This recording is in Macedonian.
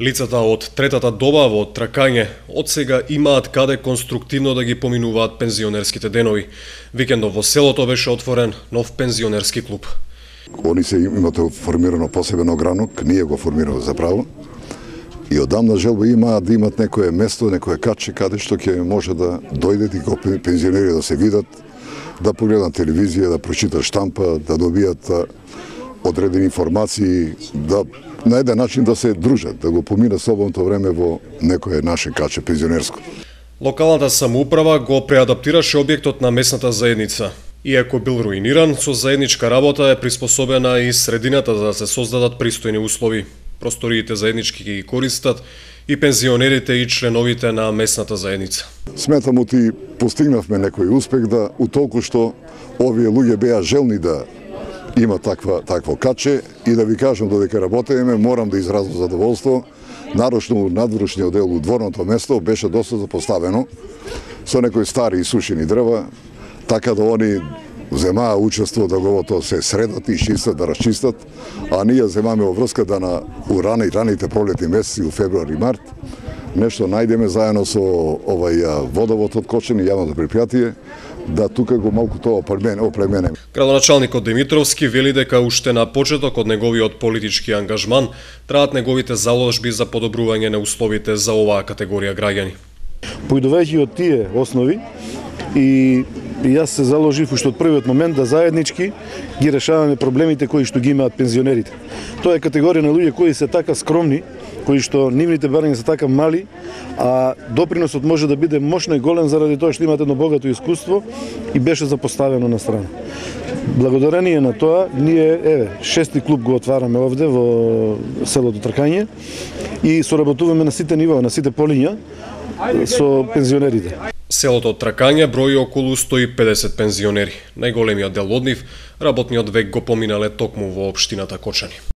Лицата од третата доба во Тракање од сега имаат каде конструктивно да ги поминуваат пензионерските денови. Викендов во селото беше отворен нов пензионерски клуб. Они се имате формирано посебен огранок, ние го формираме заправо. И одамна желба имаат да имат некое место, некое каче каде што ќе може да дојдат и го пензионери да се видат, да погледат телевизија, да прочитат штампа, да добијат одредени информации, да на еден начин да се дружат, да го поминат слободното време во некое наше каче пензионерско. Локалната самоуправа го преадаптираше објектот на местната заедница. Иако бил руиниран, со заедничка работа е приспособена и средината за да се создадат пристојни услови. Просториите заеднички ги користат и пензионерите и членовите на местната заедница. Сметам оти постигнавме некој успех да утолку што овие луѓе беа желни да има такво каче и да ви кажам додека работеме морам да изразам задоволство. Нарочно надворешниот дел у дворното место беше доста запоставено со некои стари и сушени дрва, така да они земаа учество да го тоа се средат и чистат, да расчистат, а ние земаме врска да на раните пролетни месеци, у февруари и март, нешто најдеме заедно со водовод од Кочани, јавното предпријатие, да тука го малку тоа опременеме. Градоначалникот Димитровски вели дека уште на почеток од неговиот политички ангажман траат неговите заложби за подобрување на условите за оваа категорија граѓани. Поидувајќи од тие основи и јас се заложив уште од првиот момент да заеднички ги решаваме проблемите кои што ги имаат пензионерите. Тоа е категорија на луѓе кои се така скромни, кои што нивните барања се така мали, а доприносот може да биде мощно и голем заради тоа што имаат едно богато искуство и беше запоставено на страна. Благодарение на тоа, ние, шести клуб го отвараме овде во селото Тракање и соработуваме на сите нива, на сите полиња со пензионерите. Селото Тракање брои околу 150 пензионери. Најголемиот дел од нив работниот век го поминале токму во општината Кочани.